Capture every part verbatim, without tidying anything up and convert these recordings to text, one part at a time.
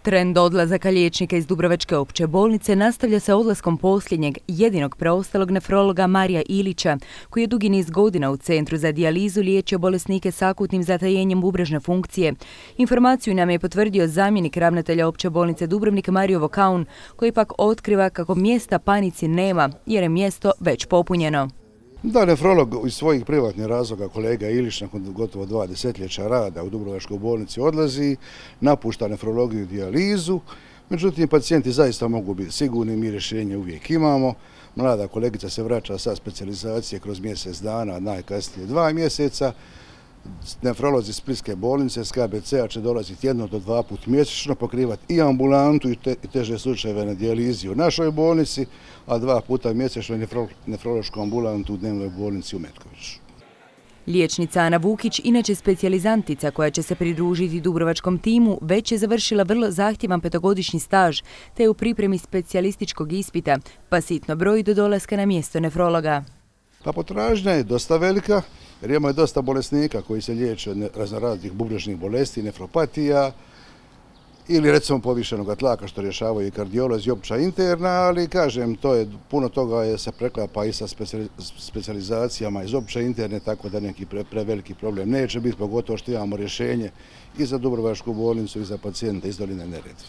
Trend odlazaka liječnika iz Dubrovačke opće bolnice nastavlja se odlaskom posljednjeg, jedinog preostalog nefrologa Marija Ilića, koji je dugi niz godina u Centru za dijalizu liječio bolesnike s akutnim zatajenjem bubrežne funkcije. Informaciju nam je potvrdio zamjenik ravnatelja opće bolnice Dubrovnik Mario Vokaun, koji pak otkriva kako mjesta panici nema, jer je mjesto već popunjeno. Da, nefrolog iz svojih privatnih razloga, kolega Ilić, nakon gotovo dva desetljeća rada u Dubrovačkoj bolnici odlazi, napušta nefrologiju i dijalizu. Međutim, pacijenti zaista mogu biti sigurni, mi rješenje uvijek imamo. Mlada kolegica se vraća sa specijalizacije kroz mjesec dana, najkasnije dva mjeseca. Nefrolozi Splitske bolnice s K B C-a će dolaziti jedno do dva put mjesečno, pokrivati i ambulantu i, te, i teže slučajeve na dijalizi u našoj bolnici, a dva puta mjesečno nefro, nefrološku ambulantu u dnevnoj bolnici u Metkoviću. Liječnica Ana Vukić, inače specijalizantica koja će se pridružiti dubrovačkom timu, već je završila vrlo zahtjevan petogodišnji staž, te je u pripremi specijalističkog ispita, pa sitno broji do dolaska na mjesto nefrologa. Pa potražnja je dosta velika, jer imamo je dosta bolesnika koji se liječe od raznoraznih bubrežnih bolesti, nefropatija ili recimo povišenog tlaka što rješavaju i kardiolozi i opća interna, ali kažem, to je, puno toga je se preklapa i sa specijalizacijama iz opće interne, tako da neki pre, preveliki problem neće biti, pogotovo što imamo rješenje i za Dubrovačku bolnicu i za pacijente iz doline Neretve.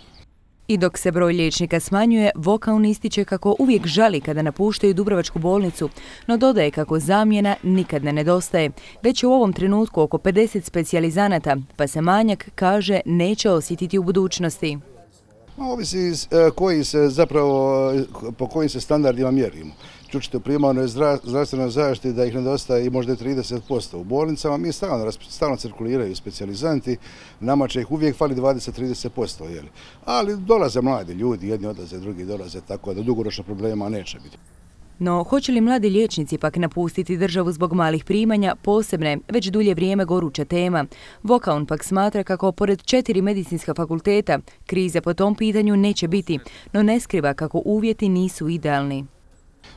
I dok se broj liječnika smanjuje, Vokaun ističe kako uvijek žali kada napuštaju Dubrovačku bolnicu, no dodaje kako zamjena nikad ne nedostaje. Već je u ovom trenutku oko pedeset specijalizanata, pa se manjak, kaže, neće osjetiti u budućnosti. Ovisi koji se zapravo, po kojim se standardima mjerimo. Čučite, u primarnoj zdravstvenoj zaštiti da ih nedostaje i možda i trideset posto. U bolnicama mi stalno, stalno cirkuliraju specijalizanti, nama će ih uvijek fali dvadeset do trideset posto. Jeli. Ali dolaze mladi ljudi, jedni odlaze, drugi dolaze, tako da dugoročno problema neće biti. No, hoće li mladi liječnici pak napustiti državu zbog malih primanja, posebne, već dulje vrijeme goruća tema. Vokaun pak smatra kako pored četiri medicinska fakulteta krize po tom pitanju neće biti, no ne skriva kako uvjeti nisu idealni.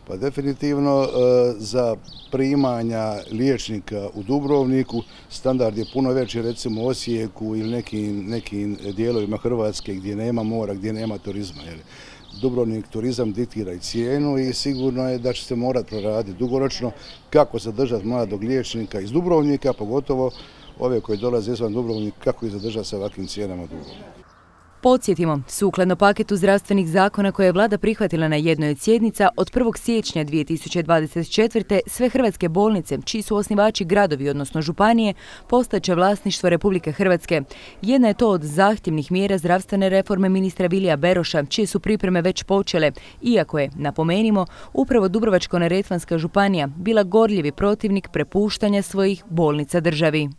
Pa definitivno za primanja liječnika u Dubrovniku standard je puno veći, recimo u Osijeku ili nekim, nekim dijelovima Hrvatske gdje nema mora, gdje nema turizma. Jer Dubrovnik turizam diktira i cijenu i sigurno je da će se morati proraditi dugoročno kako zadržati mladog liječnika iz Dubrovnika, pogotovo ove koji dolaze izvan Dubrovnika, kako ih zadržati sa ovakvim cijenama u Dubrovniku. Podsjetimo, sukladno paketu zdravstvenih zakona koje je vlada prihvatila na jednoj od sjednica, od prvog siječnja dvije tisuće dvadeset četvrte. sve hrvatske bolnice, čiji su osnivači gradovi, odnosno županije, postaće vlasništvo Republike Hrvatske. Jedna je to od zahtjevnih mjera zdravstvene reforme ministra Vilija Beroša, čije su pripreme već počele, iako je, napomenimo, upravo Dubrovačko-neretvanska županija bila gorljivi protivnik prepuštanja svojih bolnica državi.